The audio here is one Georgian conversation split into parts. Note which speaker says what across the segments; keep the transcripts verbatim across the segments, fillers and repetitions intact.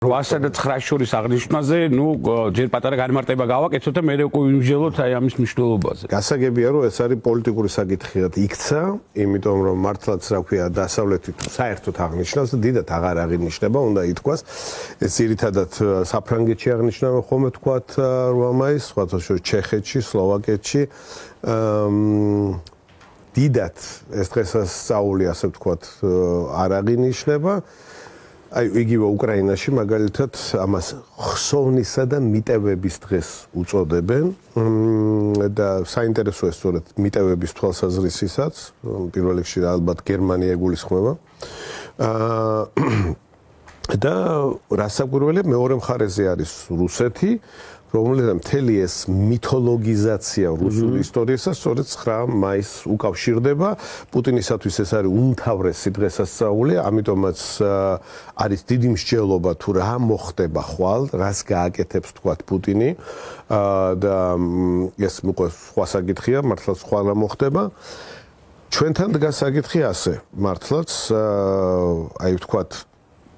Speaker 1: რვასა და ცხრას შორის აღნიშვნაზე, ნუ ჯერ პატარა განმარტება გავაკეთოთ და მე უკვე ვიმსჯელოთ აი ამის მნიშვნელობაზე.
Speaker 2: გასაგებია რომ ეს არის პოლიტიკური საკითხიად იქცა, იმიტომ რომ მართლაც რა ქვია დასავლეთი თუ საერთოდ აღნიშნავს და დიდად აღარ აღინიშნება, უნდა ითქვას. ეს ძირითადად საფრანგეთში აღნიშნება ხოლმე თქვათ რვა მაისს, სხვათა შორის ჩეხეთში, სლოვაკეთში. დიდად ეს დღესასწაული ასე ვთქვათ არ აღინიშნება. აი იგივე უკრაინაში მაგალითად ამას ხსოვნისა და მიტევების დღეს უწოდებენ და საინტერესოა სწორედ მიტევების თვალსაზრისითაც პირველ რიგში ალბათ გერმანია ეგულისხმება და რასაკვირველია მეორე მხარეზე არის რუსეთი რომელთა მთელი ეს მითოლოგიზაცია რუსული ისტორიისა სწორედ ცხრა მაისს უკავშირდება. პუტინისათვის ეს არის უმთავრესი დღესასწაული, ამიტომაც არის დიდი მსჯელობა თუ რა მოხდება ხვალ, რას გააკეთებს თქვათ პუტინი და ეს უკვე სხვა საკითხია, მართლაც სხვა რა მოხდება. ჩვენთან დგას საკითხი ასე, მართლაც აი ვთქვათ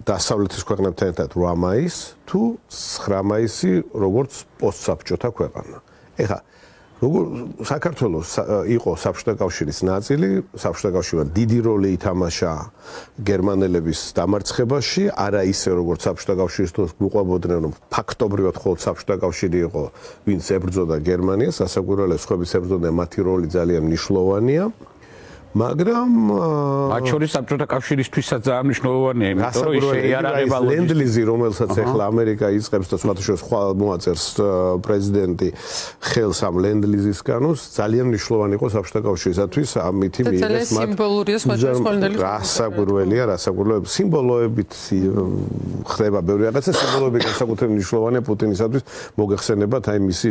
Speaker 2: დასავლეთის ქვეყნებთან ერთად რვა მაისი თუ ცხრა მაისი როგორც პოსტსაბჭოთა ქვეყანა. ეხლა როგორ საქართველოს იყო საბჭოთა კავშირის ნაწილი, საბჭოთა კავშირმა დიდი როლი ითამაშა გერმანელების დამარცხებაში, არა ისე როგორც საბჭოთა კავშირის დროს გვიყვებოდნენ რომ ფაქტობრივად მხოლოდ საბჭოთა კავშირი იყო, ვინც ებრძოდა გერმანიას, ასაკვირველია სხვების ებრძოდნენ, მათი როლი ძალიან მნიშვნელოვანია. მაგრამ
Speaker 1: მათ შორის საბჭოთა კავშირისთვისაც ძალიან მნიშვნელოვანია, იმიტომ რომ ის შეიარაღება
Speaker 2: ლენდ-ლიზი, რომელსაც ახლა ამერიკა იწყებს და სხვათა შორის ხვალ მოაწერს პრეზიდენტი ხელს ამ ლენდ-ლიზის კანონს, ძალიან მნიშვნელოვანი იყო საბჭოთა კავშირისათვის ამითი მიიღეს მათ
Speaker 3: სიმბოლურია სხვა შემთხვევაში.
Speaker 2: რასაკვირველია, რასაკვირველია, სიმბოლოებით ხდება ბევრი რაღაცა, სიმბოლოები განსაკუთრებით მნიშვნელოვანია პუტინისათვის, მოგეხსენებათ აი მისი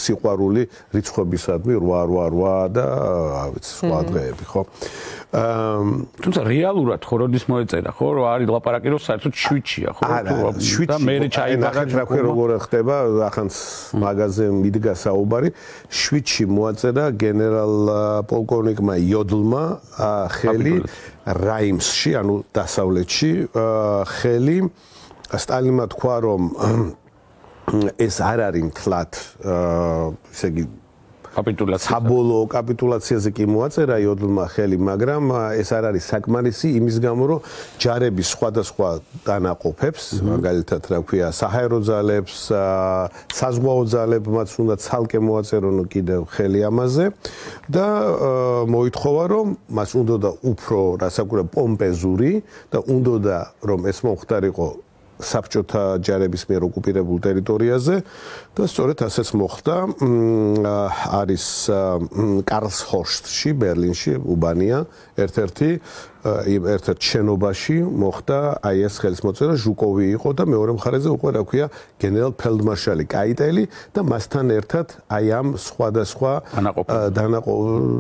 Speaker 2: სიყვარული რიცხვებისადმი რვა რვა რვა და რა ვიცი სხვა დღეები. ხო.
Speaker 1: თუმცა რეალურად ხო როდის მოეწერა, ხო, რომ არის ლაპარაკი რომ საერთოდ შვიდშია, ხო?
Speaker 2: და მე ჩაიბარა რა ქვია როგორ ხდება, ახანს მაღაზიაზე მიდგა საუბარი, შვიდში მოაწერა გენერალ პოლკოვნიკმა იოდლმა ხელი რაიმსში, ანუ დასავლეთში ხელი სტალინმა თქვა რომ ეს არ არის მთლად ესე იგი
Speaker 1: კაპიტულაცია.
Speaker 2: საბოლოო კაპიტულაციაზე კი მოაწერა იოდლმა ხელი, მაგრამ ეს არ არის საკმარისი იმის გამო, რომ ჯარების სხვადასხვა დანაყოფებს, მაგალითად, რა ქვია, საჰაერო ძალებს, საზღვაო ძალებმაც უნდა ცალკე მოაწერონ კიდევ ხელი ამაზე და მოითხოვა, რომ მას უნდა უფრო, რასაკვირველია, პომპეზური და უნდა რომ ეს მომხდარიყო საბჭოთა ჯარების მიერ ოკუპირებულ ტერიტორიაზე და სწორედ ასეც მოხდა. არის კარლსჰორსტში, ბერლინში, უბანია, ერთ-ერთი ერთ-ერთ შენობაში მოხდა აი ეს ხელისმოწერა, ჟუკოვი იყო და მეორე მხარეზე უკვე რა ქვია გენერალ ფელდმარშალი კაიტელი და მასთან ერთად აი ამ სხვადასხვა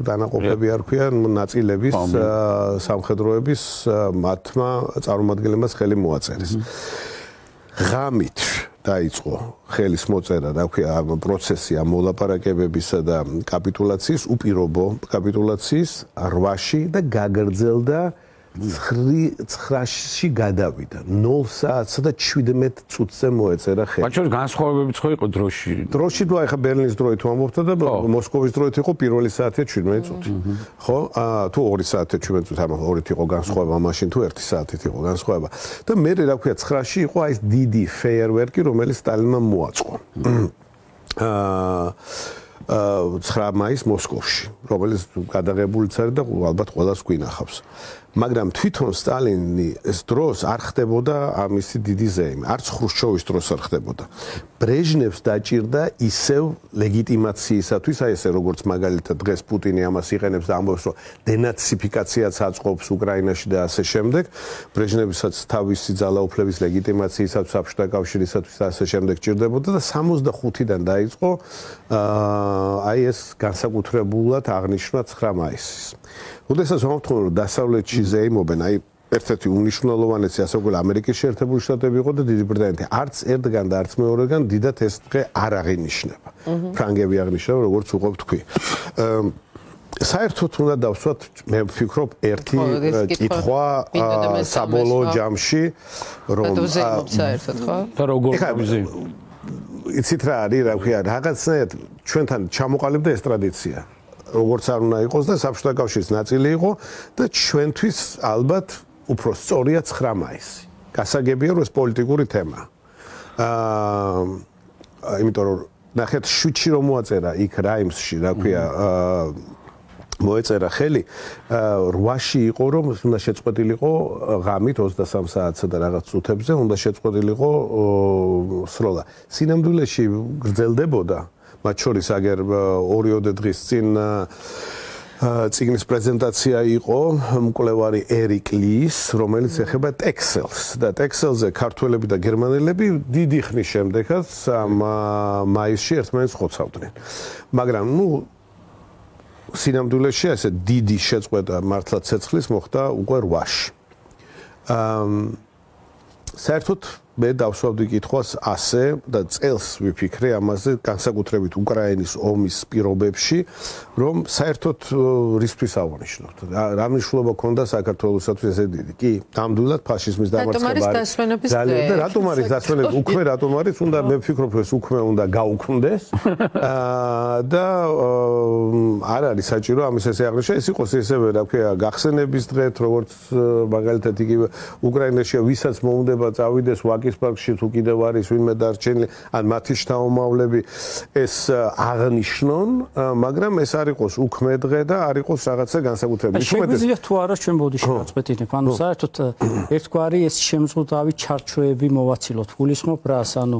Speaker 2: დანაყოფები არ ქვია ნაწილების სამხედროების მათმა წარმომადგენლებს ხელი მოაწერეს. ღამით დაიწყო ხელის მოწერა, რა ქვია, პროცესი ამ მოლაპარაკებებისა და კაპიტულაციის, უპირობო კაპიტულაციის რვაში და გაგრძელდა ცხრაში გადავიდა. ნულ საათსა და შვიდმეტ წუთზე მოეწერა ხელი.
Speaker 1: მათ შორის განსხვავებებიც ხო იყო დროში?
Speaker 2: დროში თუ ახლა ბერლინის დროით ვამბობთ და მოსკოვის დროით იყო პირველი საათი შვიდმეტ წუთი. ხო? თუ ორი საათი შვიდმეტ წუთი, ამ ორით იყო განსხვავება, მაშინ თუ ერთი საათით იყო განსხვავება. და მე რა ქვია ცხრაში იყო აი ეს დიდი ფეიერვერკი, რომელიც სტალინმა მოაწყო. აა ცხრა მაისს მოსკოვში, რომელიც გადაღებულიც არის და ალბათ ყველას გვინახავს. მაგრამ თვითონ სტალინის დროს არ ხდებოდა ამისი დიდი ზეიმი, არც ხრუშჩოვის დროს არ ხდებოდა. ბრეჟნევს დაჭირდა ისევ ლეგიტიმაციისათვის, აი ესე როგორც მაგალითად დღეს პუტინი ამას იყენებს და ამბობს, რომ დენაციფიკაციაც აწყობს უკრაინაში და ასე შემდეგ. ბრეჟნევისაც თავისი ძალაუფლების ლეგიტიმაციისათვის, საბჭოთა კავშირისათვის და ასე შემდეგ ჭირდებოდა და სამოცდახუთიდან დაიწყო აი ეს განსაკუთრებულად აღნიშნა ცხრა მაისის. როდესაც ვამბობთ, რომ დასავლეთში ზეიმობენ, აი ერთ-ერთი უნიშნულოვანესი ასაკული ამერიკის შეერთებული შტატები იყო და დიდი ბრიტანეთი. არც ერთგან და არც მეორეგან დიდად ეს დღე არ აღინიშნება. ფრანგები აღნიშნავენ, როგორც უყოფ თქვი. საერთოდ უნდა დავსვათ, მე ვფიქრობ, ერთი კითხვა საბოლოო ჯამში, რომ
Speaker 3: საერთოდ ხო?
Speaker 1: და როგორ ვიზი?
Speaker 2: იცით რა არის, რა ქვია, რაღაცნაირად ჩვენთან ჩამოყალიბდა ეს ტრადიცია. როგორც არ უნდა იყოს და საბჭოთა კავშირის ნაწილი იყო და ჩვენთვის ალბათ უფრო სწორია ცხრა მაისი. გასაგებია, რომ ეს პოლიტიკური თემაა. აა, იმიტომ რომ ნახეთ, შუჩი რომ მოაწერა იქ რაიმსში, რა ქვია, აა მოეწერა ხელი, რვაში იყო, რომ უნდა შეწყვეტილიყო ღამით ოცდასამ საათსა და რაღაც წუთებზე უნდა შეწყვეტილიყო სროლა. სინამდვილეში გრძელდებოდა, მათ შორის აგერ ორიოდე დღის წინ წიგნის პრეზენტაცია იყო მკვლევარი ერიკ ლის, რომელიც ეხება ტექსელს და ტექსელზე ქართველები და გერმანელები დიდი ხნის შემდეგაც მაისში ერთმანეთს ხოცავდნენ. მაგრამ ნუ სინამდვილეში ესე დიდი შეწყვეტა მართლა ცეცხლის მოხდა უკვე რვაში. აა საერთოდ მე დავსვავდი კითხვას ასე და წელს ვიფიქრე ამაზე განსაკუთრებით უკრაინის ომის პირობებში, რომ საერთოდ რისთვის აღნიშნოთ. რა მნიშვნელობა ჰქონდა საქართველოსთვის ესე დიდი? კი, ნამდვილად ფაშიზმის დამარცხება არის. ძალიან და რატომ არის დასვენები? უქმე რატომ არის? უნდა მე ვფიქრობ, ეს უქმე უნდა გაუქმდეს. აა და არ არის საჭირო ამის ესე აღნიშნა, ეს იყოს ესევე რა ქვია, გახსენების დღეთ, როგორც მაგალითად იგივე უკრაინაში ვისაც მოუნდება წავიდეს ვაკის პარკში თუ კიდევ არის ვინმე დარჩენილი, ან მათი შთამომავლები ეს აღნიშნონ, მაგრამ ეს არ იყოს უქმე დღე და არ იყოს რაღაცა განსაკუთრებული.
Speaker 4: შეგვიძლია თუ არა ჩვენ ბოდიში გაწყვეტინებ, ანუ საერთოდ ერთგვარი ეს შემზღუდავი ჩარჩოები მოვაცილოთ. გულისხმობ რას, ანუ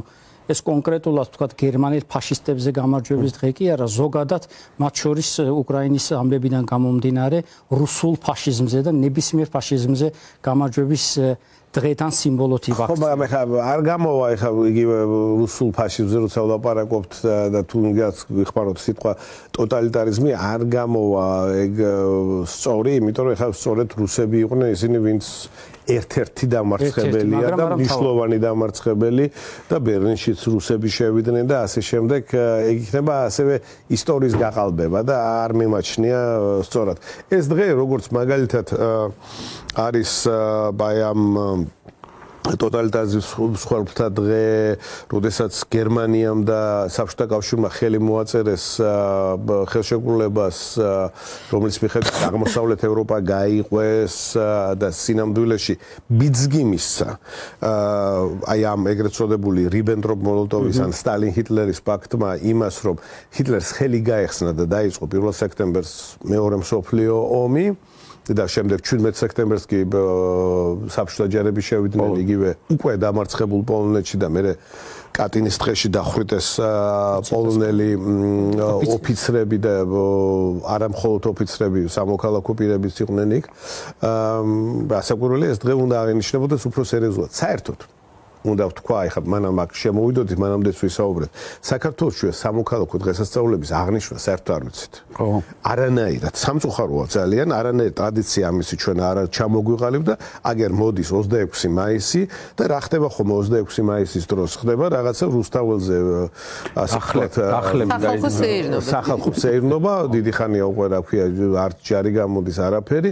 Speaker 4: ეს კონკრეტულად თქვა გერმანელ ფაშისტებზე გამარჯვების დღე კი არა, ზოგადად მათ შორის უკრაინის ამბებიდან გამომდინარე რუსულ ფაშიზმზე და ნებისმიერ ფაშიზმზე გამარჯვების დღეთან სიმბოლოთ ივახს.
Speaker 2: ხო, მაგრამ ეხლა არ გამოვა ეხლა იგივე რუსულ ფაშიზმზე როცა ვლაპარაკობთ და თუ ვიხმაროთ სიტყვა ტოტალიტარიზმი არ გამოვა ეგ სწორი, იმიტომ რომ ეხლა სწორედ რუსები იყვნენ ისინი, ვინც ერთ-ერთი დამარცხებელია და მნიშვნელოვანი დამარცხებელი და ბერლინშიც რუსები შევიდნენ და ასე შემდეგ ეგ იქნება ასევე ისტორიის გაყალბება და არ მიმაჩნია სწორად. ეს დღე როგორც მაგალითად არის ბაიამ ტოტალიტარიზმის მსხვერპლთა დღე, როდესაც გერმანიამ და საბჭოთა კავშირმა ხელი მოაწერეს ხელშეკრულებას, რომელიც მიხედვით აღმოსავლეთ ევროპა გაიყვეს და სინამდვილეში ბიძგი მისცა აი ამ ეგრეთ წოდებული რიბენტროპ-მოლოტოვის ან სტალინ-ჰიტლერის პაქტმა იმას, რომ ჰიტლერს ხელი გაეხსნა და დაიწყო პირველ სექტემბერს მეორე მსოფლიო ომი. და შემდეგ ჩვიდმეტ სექტემბერს კი საბჭოთა ჯარები შევიდნენ იგივე უკვე დამარცხებულ პოლონეთში და მე კატინის დღეში დახვრიტეს პოლონელი ოფიცრები და არა მხოლოდ ოფიცრები, სამოქალაქო პირებიც იყვნენ იქ. ასაკურველი ეს დღე უნდა აღინიშნებოდეს უფრო სერიოზულად. საერთოდ უნდა ვთქვა, ეხლა მანამ აქ შემოვიდოდით, მანამდეც ვისაუბრეთ. საქართველოში სამოქალაქო დღესასწაულების აღნიშვნა საერთოდ არ ვიცით.
Speaker 1: ხო.
Speaker 2: არანაირად სამწუხაროა ძალიან, არანაირ ტრადიცია ამისი ჩვენ არ ჩამოგვიყალიბდა, აგერ მოდის ოცდაექვსი მაისი და რა ხდება ხომ ოცდაექვსი მაისის დროს ხდება რაღაცა რუსთაველზე ასე ვთქვათ, სახალხო სეირნობა, დიდი ხანია უკვე რა ქვია, არც ჯარი გამოდის არაფერი.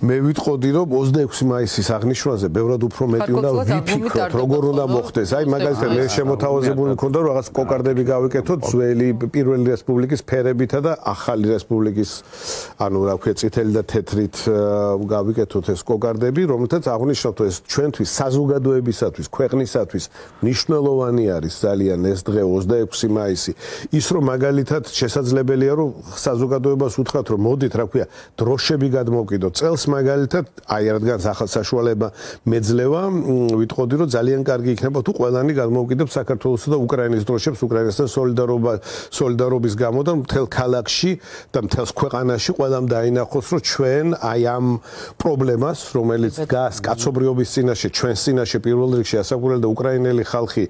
Speaker 2: მე ვიტყოდი, რომ ოცდაექვსი მაისის აღნიშვნაზე ბევრად უფრო მეტი უნდა ვიფიქროთ, როგორ უნდა მოხდეს. აი მაგალითად მე შემოთავაზებული მქონდა, რომ რაღაც კოკარდები გავიკეთოთ ძველი პირველი რესპუბლიკის ფერებითა და ახალი რესპუბლიკის, ანუ რა ქვია, წითელი და თეთრით გავიკეთოთ ეს კოკარდები, რომელთაც აღნიშნავთ, ეს ჩვენთვის საზოგადოებისათვის, ქვეყნისათვის მნიშვნელოვანი არის ძალიან ეს დღე ოცდაექვსი მაისი. ის რომ მაგალითად შესაძლებელია, რომ საზოგადოებას უთხრათ, რომ მოდით, რა ქვია, დროშები გადმოვკიდოთ წელს მაგალითად, აი რადგან ახალ საშუალება მეძლევა, ვიტყოდი, რომ ძალიან კარგი იქნება თუ ყველანი გადმოვკიდებ საქართველოსა და უკრაინის დროშებს უკრაინასთან სოლიდარობა სოლიდარობის გამო და მთელ ქალაქში და მთელ ქვეყანაში ყველამ დაინახოს, რომ ჩვენ აი ამ პრობლემას, რომელიც დგას კაცობრიობის წინაშე, ჩვენს წინაშე პირველ რიგში ასაკურველი და უკრაინელი ხალხი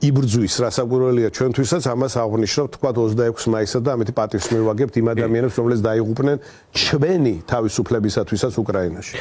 Speaker 2: იბრძვის, რასაკურველია ჩვენთვისაც, ამას აღნიშნავთ თქვა ოცდაექვსი მაისსა და ამით პატივს მივაგებთ იმ ადამიანებს, რომლებიც დაიღუპნენ ჩვენი თავისუფლებისათვისაც უკრაინაში.